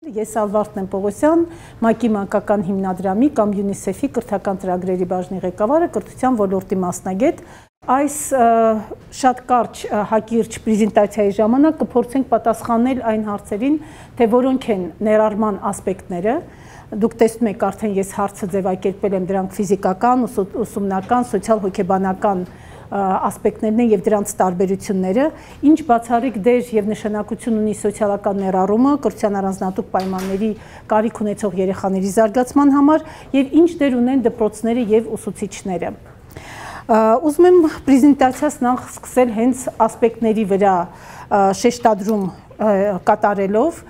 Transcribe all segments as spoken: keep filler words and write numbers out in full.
Ես Ալվարդն եմ Պողոսյան, ՄԱԿ-ի մանկական հիմնադրամի կամ ՅՈՒՆԻՍԵՖ-ի կրթական ծրագրերի բաժնի ղեկավարը, կրթության ոլորտի մասնագետ։ Այս շատ կարճ հակիրճ պրեզենտացիայի ժամանակ կփորձենք պատասխանել այն հարցերին, թե որոնք են ներառման ասպեկտները։ Դուք տեսնում եք, արդեն ես հարցը ձևակերպել եմ, դրանք ֆիզիկական, ուսումնական, սոցիալ-հոգեբանական ասպեկտներն են եւ դրանց տարբերությունները, ինչ բացառիկ դեր եւ նշանակություն ունի սոցիալական ներառումը կրթության առանձնահատուկ պայմանների կարիք ունեցող երեխաների զարգացման համար եւ ինչ դեր ունեն դպրոցները եւ ուսուցիչները։ Ուզում եմ պրեզենտացիաս նախ սկսել հենց ասպեկտների վրա շեշտադրում կատարելով,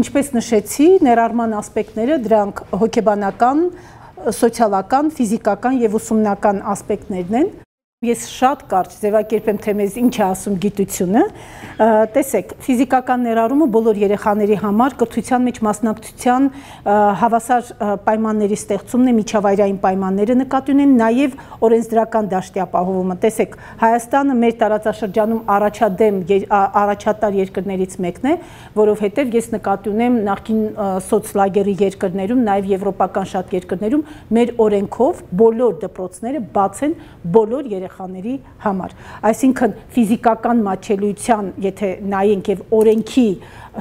ինչպես նշեցի, ներառման ասպեկտները դրանք հոգեբանական, սոցիալական, ֆիզիկական եւ ուսումնական ասպեկտներն են։ Ես շատ կարճ ձևակերպեմ, թե մեզ ինչ է ասում գիտությունը։ Տեսեք, ֆիզիկական ներառումը բոլոր երեխաների համար կրթության մեջ մասնակցության հավասար պայմանների ստեղծումն է, միջավայրային պայմանները նկատի ունեն, նաև օրենսդրական դաշտի ապահովումը։ Տեսեք, Հայաստանը մեր տարածաշրջանում առաջադեմ առաջատար երկրներից մեկն է, որովհետև ես նկատի ունեմ նախկին սոցլագերի երկրներում, նաև եվրոպական շատ երկրներում մեր օրենքով բոլոր դպրոցները բաց են բոլոր երեխաների երեխաների համար, այսինքն ֆիզիկական մատչելիության, եթե նայենք եւ օրենքի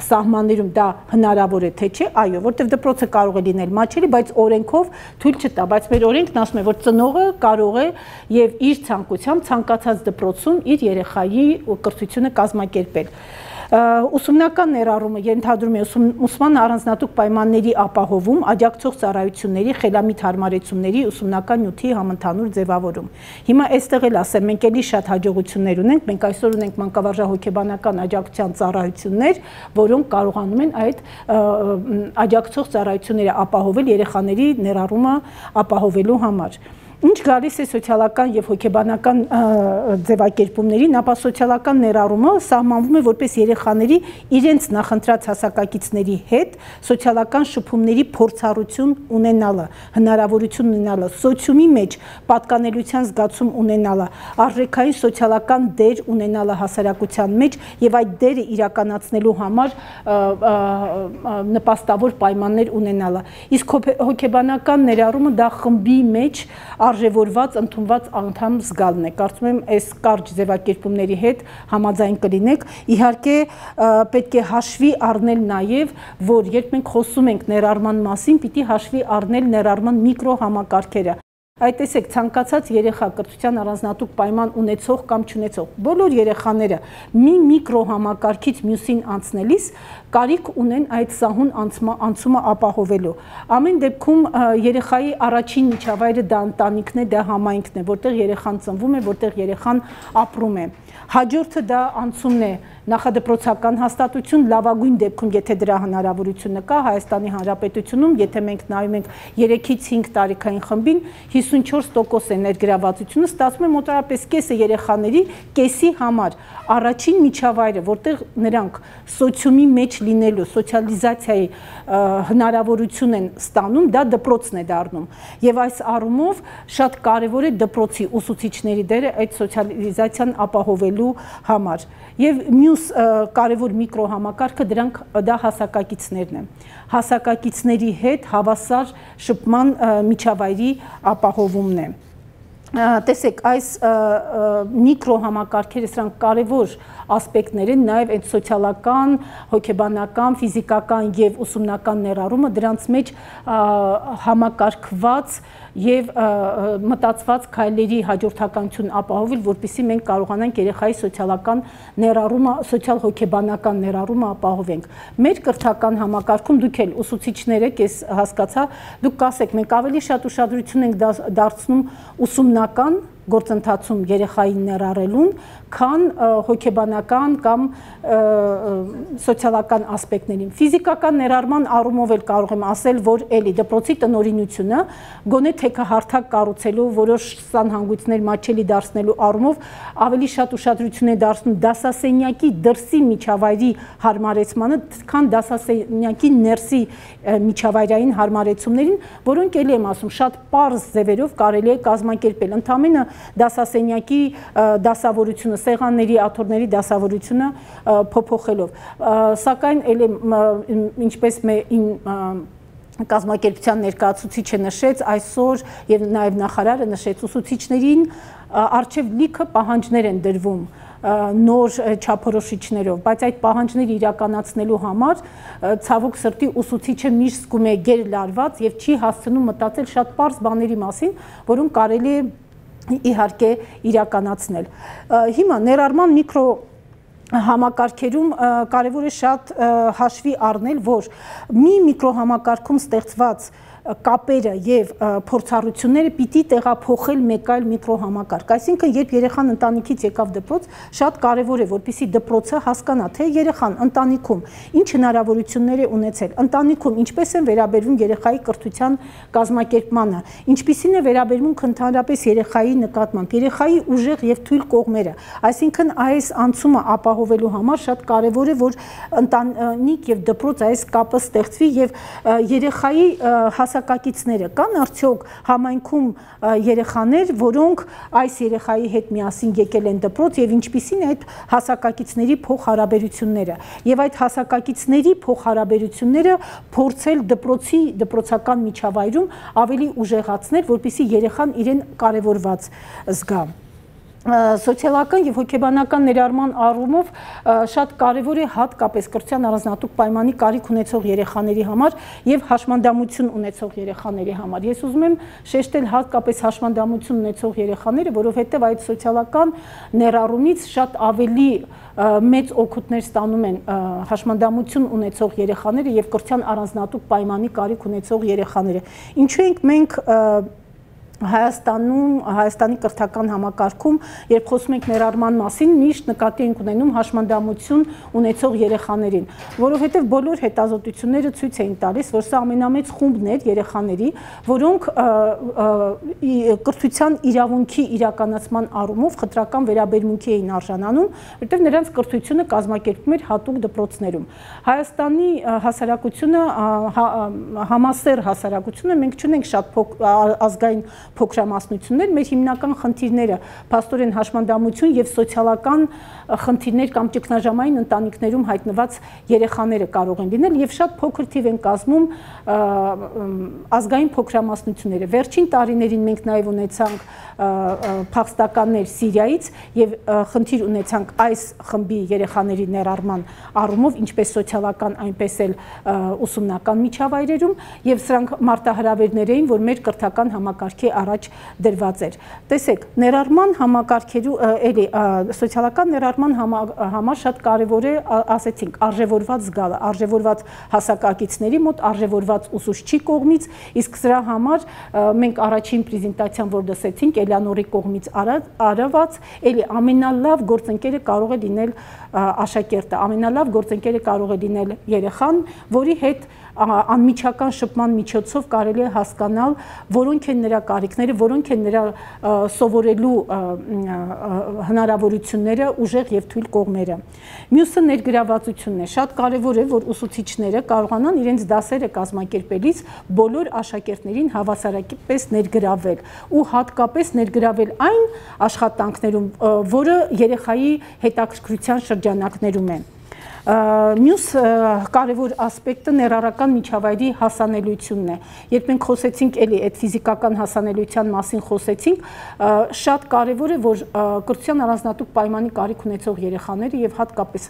սահմաններում դա հնարավոր է թե չէ, այո, որտեղ դպրոցը կարող է լինել մատչելի, բայց օրենքով թույլ չտա, բայց մեր օրենքն ասում է, որ ծնողը կարող է եւ իր ցանկությամբ ցանկացած դպրոցում իր երեխայի կրթությունը կազմակերպել։ Ուսումնական ներառումը ենթադրում է ուսման առանձնահատուկ պայմանների ապահովում, աջակցող ծառայությունների, խելամիտ հարմարեցումների, ուսումնական նյութի համընդհանուր ձևավորում։ Հիմա այստեղ էլ ասեմ, մենք էլի շատ հաջողություններ ունենք, մենք այսօր ունենք մանկավարժահոգեբանական աջակցության ծառայություններ, որոնք կարողանում են այդ աջակցող ծառայությունները ապահովել երեխաների ներառումը ապահովելու համար։ Ինչ գալիս է սոցիալական եւ հոգեբանական ձևակերպումներին, ապա սոցիալական ներառումը սահմանվում է որպես երեխաների իրենց նախընտրած հասակակիցների հետ սոցիալական շփումների փորձառություն ունենալը, հնարավորություն ունենալը, սոցիումի մեջ պատկանելիության զգացում ունենալը, արժեքային սոցիալական դեր ունենալը հասարակության մեջ եւ այդ դերը իրականացնելու համար նպաստավոր պայմաններ ունենալը։ Իսկ հոգեբանական ներառումը դա խմբի մեջ արժևորված, ընդունված անդամ զգալն է։ Կարծում եմ, այս կարճ ձևակերպումների հետ համաձայն կլինեք։ Իհարկե, պետք է հաշվի առնել նաև, որ երբ մենք խոսում ենք ներառման մասին, պիտի հաշվի առնել ներառման միկրոհամակարգերը։ Այդ տեսեք, ցանկացած երեխա կրթության առանձնահատուկ պայման ունեցող կամ չունեցող, բոլոր երեխաները մի միկրոհամակարգից մյուսին անցնելիս կարիք ունեն այդ սահուն անցումը ապահովելու։ Ամեն դեպքում երեխայի առաջին միջավայրը դա ընտանիքն է, դա համայնքն է, որտեղ երեխան ծնվում է, որտեղ երեխան ապրում է։ Հաջորդը դա անցումն է, նախադպրոցական հաստատություն, լավագույն դեպքում, եթե դրա հնարավորությունը կա, Հայաստանի Հանրապետությունում, եթե մենք նայում ենք երեքից հինգ տարեկան խմբին, հիսունչորս տոկոս է ներգրավվածությունը, ստացվում է մոտավորապես կեսը երեխաների կեսի համար առաջին միջավայրը, որտեղ նրանք սոցիումի մեջ լինելու, սոցիալիզացիայի հնարավորություն են ստանում, դա դպրոցն է դառնում։ Եվ այս առումով շատ կարևոր է դպրոցի ուսուցիչների դերը այդ սոցիալիզացիան ապահովելու համար։ Եվ մյուս կարևոր միկրոհամակարգը դրանք դա հասակակիցներն են։ Հասակակիցների հետ հավասար շփման միջավայրի ապահովումն է։ Տեսեք, այս միկրոհամակարգերը սրանք կարևոր ասպեկտներ են, նաև այդ սոցիալական, հոգեբանական, ֆիզիկական եւ ուսումնական ներառումը դրանց մեջ համակարգված եւ մտածված քայլերի հաջորդականություն ապահովել, որպեսզի մենք կարողանանք երեխայի սոցիալական ներառումը, սոցիալ-հոգեբանական ներառումը ապահովենք։ Մեր կրթական համակարգում դուք էլ ուսուցիչներ եք, ես հասկացա, դուք կասեք, մենք ավելի շատ ուշադրություն ենք դարձնում ուսումնական գործընթացում երեխային ներառելուն, քան հոգեբանական կամ սոցիալական ասպեկտներին։ Ֆիզիկական ներառման առումով էլ կարող եմ ասել, որ էլի դպրոցի տնօրինությունը գոնե թեքահարթակ կառուցելու, որոշ սանհանգույցներ մատչելի դարձնելու առումով ավելի շատ ուշադրություն է դարձնում դասասենյակի դրսի միջավայրի հարմարեցմանը, քան դասասենյակի ներսի միջավայրային հարմարեցումներին, որոնք էլի եմ ասում, շատ պարզ ձևերով կարելի է կազմակերպել։ Ընդամենը դասասենյակի դասավորությունը, սեղանների, աթոռների դասավորությունը փոփոխելով։ Սակայն ինչպես կազմակերպության ներկայացուցիչը նշեց, այսօր եւ նաեւ նախարարը նշեց, ուսուցիչներին առջեւ լիքը պահանջներ են դրվում նոր չափորոշիչներով, բայց այդ պահանջները իրականացնելու համար ցավոք սրտի ուսուցիչը միշտ զգում է գերլարված եւ չի հասցնում մտածել շատ պարզ բաների մասին, որոնք կարելի է իհարկե իրականացնել։ Հիմա ներառման միկրո համակարգերում կարևոր է շատ հաշվի առնել, որ մի միկրոհամակարգում ստեղծված կապերը եւ փորձառությունները պիտի տեղափոխել մեկ այլ միկրոհամակարգ։ Այսինքն, երբ երեխան ընտանիքից եկավ դպրոց, շատ կարևոր է, որպեսզի դպրոցը հասկանա, թե երեխան ընտանիքում ինչ հնարավորություններ է ունեցել, ընտանիքում ինչպես են վերաբերվում երեխայի կրթության կազմակերպմանը, ինչպիսին է վերաբերմունք ընդհանրապես երեխայի նկատմամբ, երեխայի ուժեղ եւ թույլ կողմերը։ Այսինքն, այս անցումը ապահովելու համար շատ կարևոր է, որ ընտանիք եւ դպրոց այս կապը ստեղծվի եւ երեխայի հասակակիցները կան արդյոք համայնքում երեխաներ, որոնք այս երեխայի հետ միասին եկել են դպրոց եւ ինչպիսին է այդ հասակակիցների փոխհարաբերությունները եւ այդ հասակակիցների փոխհարաբերությունները փորձել դպրոցի դպրոցական միջավայրում ավելի ուժեղացնել, որպեսզի երեխան իրեն կարևորված զգա։ Սոցիալական եւ հոգեբանական ներառման առումով շատ կարևոր է հատկապես կրթության առանձնահատուկ պայմանի կարիք ունեցող երեխաների համար եւ հաշմանդամություն ունեցող երեխաների համար։ Ես ուզում եմ շեշտել հատկապես հաշմանդամություն ունեցող երեխաները, որովհետեւ այդ սոցիալական ներառումից շատ ավելի մեծ օգուտներ ստանում են հաշմանդամություն ունեցող երեխաները եւ կրթության առանձնահատուկ պայմանի կարիք ունեցող երեխաները։ Ինչու ենք մենք Հայաստանում, Հայաստանի կրթական համակարգում, երբ խոսում ենք ներառման մասին, միշտ նկատի ենք ունենում հաշմանդամություն ունեցող երեխաներին, որովհետև բոլոր հետազոտությունները ցույց էին տալիս, որ սա ամենամեծ խումբն էր երեխաների, որոնք կրթության իրավունքի իրականացման առումով խտրական վերաբերմունքի էին արժանանում, որտեղ նրանց կրթությունը կազմակերպվում էր հատուկ դպրոցներում։ Հայաստանի հասարակությունը, համասեռ հասարակությունը, մենք չունենք շատ ազգային փոքրամասնություններ, մեր հիմնական խնդիրները փաստորեն հաշմանդամություն եւ սոցիալական խնդիրներ կամ ճգնաժամային ընտանիքներում հայտնված երեխաները կարող են լինել եւ շատ փոքր թիվ են կազմում ազգային փոքրամասնությունները։ Վերջին տարիներին մենք նաեւ ունեցանք փախստականներ Սիրիայից եւ խնդիր ունեցանք այս խմբի երեխաների ներառման առումով, ինչպես սոցիալական, այնպես էլ ուսումնական միջավայրերում եւ սրանք մարտահրավերներ էին, որ մեր կրթական համակարգի առաջ դրված էր։ Տեսեք, ներառման համակարգերու էլի սոցիալական ներառման համար շատ կարևոր է, ասեցինք, արժևորված զգալը, արժևորված հասակակիցների մոտ, արժևորված ուսուցչի կողմից, իսկ սրա համար մենք առաջին պրեզենտացիան, որ լսեցինք, Էլեանորի կողմից արված, էլի ամենալավ գործընկերը կարող է լինել աշակերտը, ամենալավ գործընկերը կարող է լինել երեխան, որի հետ անմիջական շփման միջոցով կարելի է հասկանալ, որոնք են նրա կարիքները, որոնք են նրա սովորելու հնարավորությունները, ուժեղ եւ թույլ կողմերը։ Մյուսը ներգրավվածությունն է։ Շատ կարեւոր է, որ ուսուցիչները կարողանան իրենց դասերը կազմակերպելիս բոլոր աշակերտներին հավասարապես ներգրավել ու հատկապես ներգրավել այն աշխատանքներում, որը երեխայի հետաքրքրության շրջանակներում են։ Մյուս կարևոր ասպեկտը ներառական միջավայրի հասանելիությունն է։ Երբ մենք խոսեցինք էլի այդ ֆիզիկական հասանելիության մասին խոսեցինք, շատ կարևոր է, որ կրթության առանձնահատուկ պայմանի կարիք ունեցող երեխաները եւ հատկապես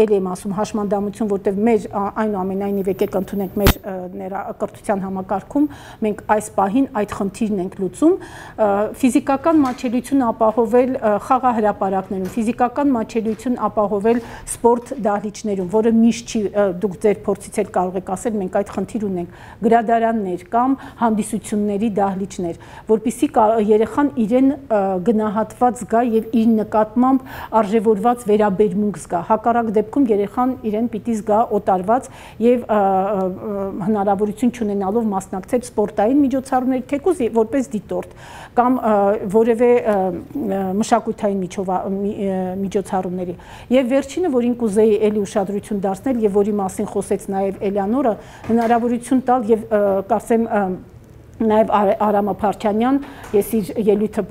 էլի եմ ասում հաշմանդամություն, որտեղ մեր այնուամենայնիվ եկեք ընդունենք մեր կրթության համակարգում մենք այս պահին այդ խնդիրն ենք լուծում, ֆիզիկական մատչելիություն ապահովել խաղահրապարակներում, ֆիզիկական մատչելիություն ապահովել սպորտ դահլիճներում, որը միշտ չի, դուք ձեր փորձից էլ կարող եք ասել, մենք այդ խնդիր ունենք, գրադարաններ կամ հանդիսությունների դահլիճներ, որպեսզի երեխան իրեն գնահատված զգա եւ իր նկատմամբ արժևորված վերաբերմունք զգա։ Հակառակ դեպքում երեխան իրեն պիտի զգա օտարված եւ հնարավորություն չունենալով մասնակցել սպորտային միջոցառումների, թեկուզ որպես դիտորդ կամ որևէ մշակութային միջոցառումների։ Եվ վերջինը, որին կուզեի էլի ուշադրություն դարձնել եւ որի մասին խոսեց նաեւ Էլեանորը, հնարավորություն տալ եւ կարծեմ նաև Արամը Փարչյանյան, ես իր ելույթը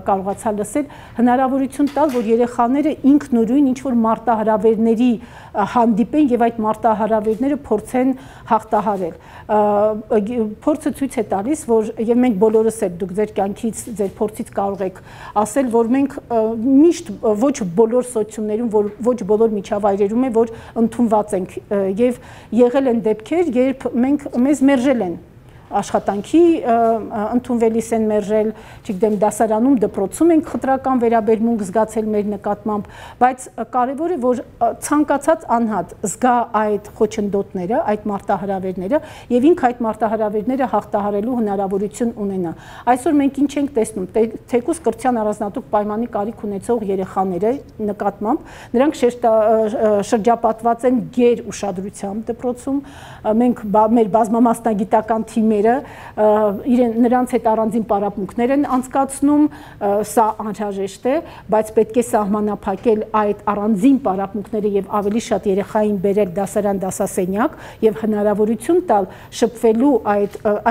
կարողացա լսել, հնարավորություն տալ, որ երեխաները ինքնուրույն ինչ-որ մարտահրավերների հանդիպեն և այդ մարտահրավերները փորձեն հաղթահարել։ Փորձը ցույց է տալիս, որ և մենք բոլորս էլ դուք ձեր կյանքից, ձեր փորձից կարող եք ասել, որ մենք միշտ ոչ բոլոր սոցիումներում, ոչ բոլոր միջավայրերում է, որ ընդունված ենք և եղել են դեպքեր, երբ մենք մեզ մերժել են աշխատանքի ընդունվելիս են մերժել, չգիտեմ, դասարանում, դպրոցում ենք խտրական վերաբերմունք զգացել մեր նկատմամբ, բայց կարևոր է, որ ցանկացած անհատ զգա այդ խոչընդոտները, այդ մարտահրավերները եւ ինք այդ մարտահրավերները հաղթահարելու հնարավորություն ունենա։ Այսօր մենք ինչ ենք տեսնում, թեկուզ կրթության առանձնատուկ պայմանի կարիք ունեցող երեխաները նկատմամբ, նրանք շրջապատված են գեր ուշադրությամբ դպրոցում, մենք մեր բազմամասնագիտական թիմը նրանց հետ առանձին պարապմունքներ են անցկացնում, սա անհրաժեշտ է, բայց պետք է սահմանափակել այդ առանձին պարապմունքները և ավելի շատ երեխային բերել դասարան դասասենյակ և հնարավորություն տալ շփվելու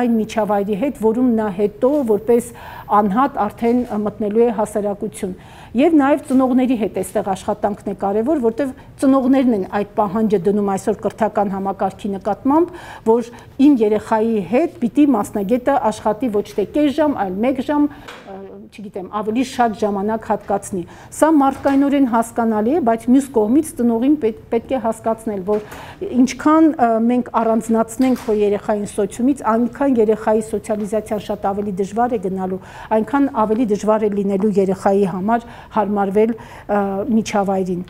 այն միջավայրի հետ, որում նա հետո որպես անհատ արդեն մտնելու է հասարակություն։ Եվ նաև ծնողների հետ այստեղ աշխատանքն է կարևոր, որտեղ ծնողներն են այդ պահանջը դնում այսօր կրթական համակարգի նկատմամբ, որ իմ երեխայի հետ պիտի մասնագետը աշխատի ոչ թե կես ժամ, այլ մեկ ժամ, չգիտեմ, ավելի շատ ժամանակ հատկացնի։ Սա մարդկայնորեն հասկանալի է, բայց մյուս կողմից ծնողին պետք է հասկացնել, որ ինչքան մենք առանձնացնենք քո երեխային սոցիումից, այնքան երեխայի սոցիալիզացիան շատ ավելի դժվար է գնալու, այնքան ավելի դժվար է լինելու երեխայի համար հարմարվել միջավայրին։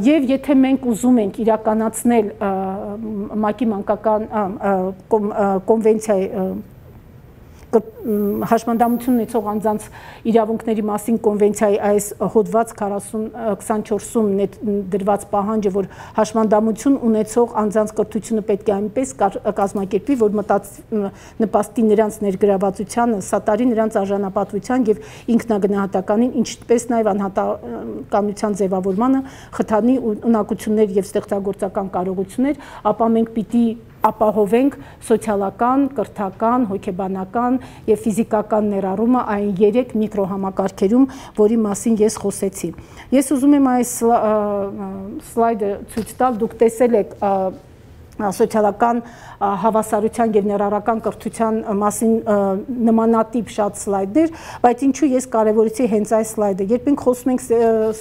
Եվ եթե մենք ուզում ենք իրականացնել ՄԱԿ-ի մանկական կոնվենցիայի հաշմանդամություն ունեցող անձանց իրավունքների մասին կոնվենցիայի այս հոդված քսանչորսում դրված պահանջը, որ հաշմանդամություն ունեցող անձանց կրթությունը պետք է այնպես կազմակերպվի, որ նպաստի նրանց ներգրավվածությանը, սատարի նրանց արժանապատվության և ինքնագնահատականին, ինչպես նաև անհատականության ձևավորմանը, խթանի ունակություններ և ստեղծագործական կարողություններ, ապա մենք պիտի ապահովենք սոցիալական, կրթական, հոգեբանական և ֆիզիկական ներառումը այն երեք միկրոհամակարգերում, որի մասին ես խոսեցի։ Ես ուզում եմ այս սլայդը ցույց տալ, դուք տեսել եք սոցիալական հավասարության և ներառական կրթության մասին նմանատիպ շատ սլայդներ, բայց ինչու ես կարևորեցի հենց այս սլայդը։ Երբ մենք խոսում ենք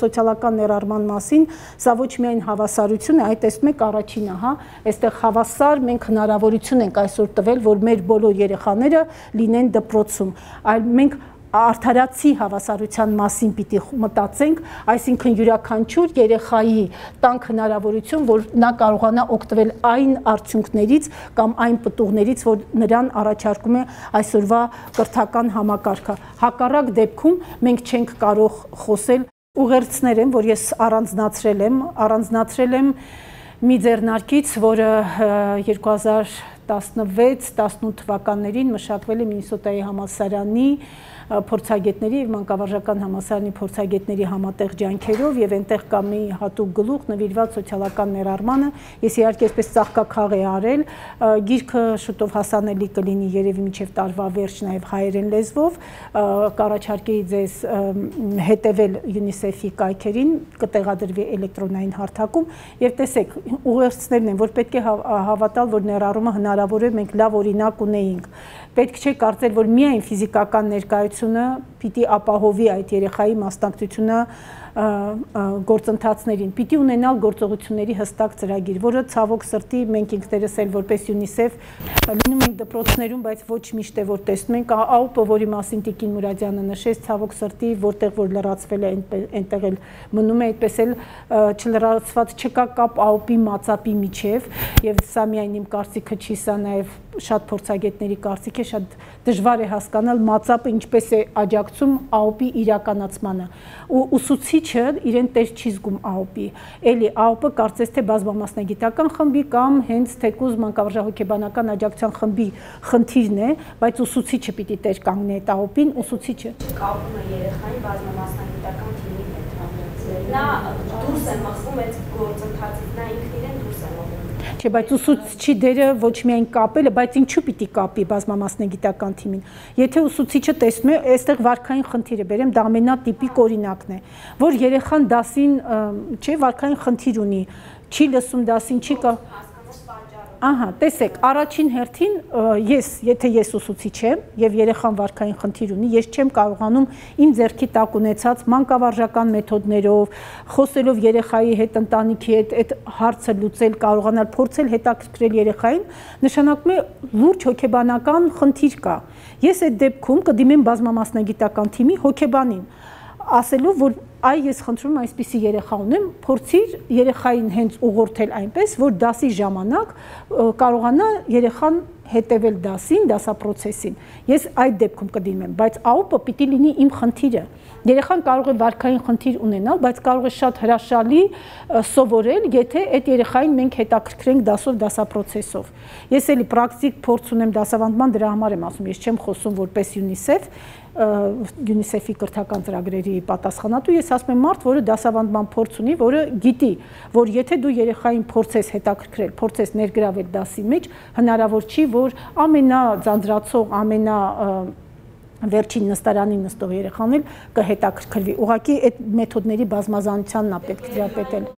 սոցիալական ներառման մասին, սա ոչ միայն հավասարություն է, այլ տեսնում եք առաջինը, հա, այստեղ հավասար մենք հնարավորություն ենք այսօր տվել, որ մեր բոլոր երեխաները լինեն դպրոցում, այլ մենք արդարացի հավասարության մասին պիտի մտածենք, այսինքն յուրաքանչյուր երեխայի տանք հնարավորություն, որ նա կարողանա օգտվել այն արդյունքներից կամ այն պտուղներից, որ նրան առաջարկում է այսօրվա կրթական համակարգը։ Հակառակ դեպքում մենք չենք կարող խոսել։ Ուղերձներ եմ, որ ես առանձնացրել եմ, առանձնացրել եմ մի ձեռնարկից, որը երկու հազար տասնվեց տասնութ թվականներին մշակվել է Մինիսոտայի համալսարանի փորձագետների և մանկավարժական համալսարանի փորձագետների համատեղ ջանքերով և այնտեղ կա մի հատուկ գլուխ նվիրված սոցիալական ներառմանը, ես իհարկե այսպես ծաղկաքաղ է արել, գիրքը շուտով հասանելի կլինի երևի մինչև տարվա վերջ նաև հայերեն լեզվով, կառաջարկեի ձեզ հետևել ՅՈՒՆԻՍԵՖ-ի կայքերին, կտեղադրվի էլեկտրոնային հարթակում և տեսեք, ուղերձներն են, որ պետք է հավատալ, որ ներառումը հնարավոր է, մենք լավ օրինակ ունեինք, պետք չէ կարծել, որ միայն ֆիզիկական ներկայությունը պիտի ապահովի այդ երեխայի մասնակցությունը գործընթացներին, պիտի ունենալ գործողությունների հստակ ծրագիր, որը ցավոք սրտի մենք ինքներս էլ որպես ՅՈՒՆԻՍԵՖ լինում ենք դպրոցներում, բայց ոչ միշտ է որ տեսնում ենք, ԱՈՊ-ը, որի մասին Տիկին Մուրադյանը նշեց, ցավոք սրտի, որտեղ որ լրացվել է, այնտեղ էլ մնում է, այդպես էլ չլրացված չկա կապ ԱՕՊ-ի մածապի միջև, և սա միայն իմ կարծիքը չի, սա նաև շատ փորձագետների կարծիք է, շատ դժվար է հասկանալ մածապը ինչպես է աջակցում ԱՕՊ-ի իրականացմանը, ու ուսուցիչը իրեն տեր չի զգում ԱՕՊ-ի, էլի ԱՕՊ-ը կարծես թե բազմամասնագիտական խմբի կամ հենց թեկուզ մանկավարժահոգեբանական աջակցության խմբի խնդիրն է, բայց ուսուցիչը պիտի տեր կանգնի այդ ԱՕՊ-ին, ուսուցիչը կապում է երեխային բազմամասնագիտական թիմի հետ, նա դուրս է մղվում այդ գործընթացից, նա ինքն իրեն դուրս է մղվում։ Չէ, բայց ուսուցչի դերը ոչ միայն կապելը, բայց ինչու պիտի կապի բազմամասնագիտական թիմին։ Եթե ուսուցիչը տեսնում է, այստեղ վարքային խնդիր է, բերեմ դա ամենատիպիկ օրինակն է, որ երեխան դասին, չէ, վարքային խնդիր ունի, չի լսում դասին, չի կա Ահա, տեսեք, առաջին հերթին ես, եթե ես ուսուցիչ եմ եւ երեխան վարքային խնդիր ունի, ես չեմ կարողանում իմ ձեռքի տակ ունեցած մանկավարժական մեթոդներով, խոսելով երեխայի հետ, ընտանիքի հետ, այդ հարցը լուծել, կարողանալ փորձել հետաքրքրել երեխային, նշանակում է լուրջ հոգեբանական խնդիր կա։ Ես այդ դեպքում կդիմեմ բազմամասնագիտական թիմի հոգեբանին, ասելով, որ այ ես խնդրում եմ այսպիսի երեխա ունեմ, փորձիր երեխային հենց ուղղորդել այնպես, որ դասի ժամանակ կարողանա երեխան հետևել դասին, դասապրոցեսին։ Ես այդ դեպքում կդիմեմ, բայց ԱՈՊ-ը պիտի լինի իմ խնդիրը։ Երեխան կարող է վարքային խնդիր ունենալ, բայց կարող է շատ հրաշալի սովորել, եթե այդ երեխային մենք հետաքրքրենք դասով, դասապրոցեսով։ Ես էլի պրակտիկ փորձ ունեմ դասավանդման, դրա համար եմ ասում, ես չեմ խոսում որպես ՅՈՒՆԻՍԵՖ, ՅՈՒՆԻՍԵՖ-ի կրթական ծրագրերի պատասխանատու, ես ասում եմ մարդ, որը դասավանդման փորձ ունի, որը գիտի, որ եթե դու երեխային փորձես հետաքրքրել, փորձես ներգրավել դասի մեջ, հնարավոր չի, որ ամենաձանձրացող, ամենա վերջին նստարանին նստող երեխան էլ կհետաքրքրվի։ Ուղղակի այդ մեթոդների բազմազանությանն է պետք դրապետել։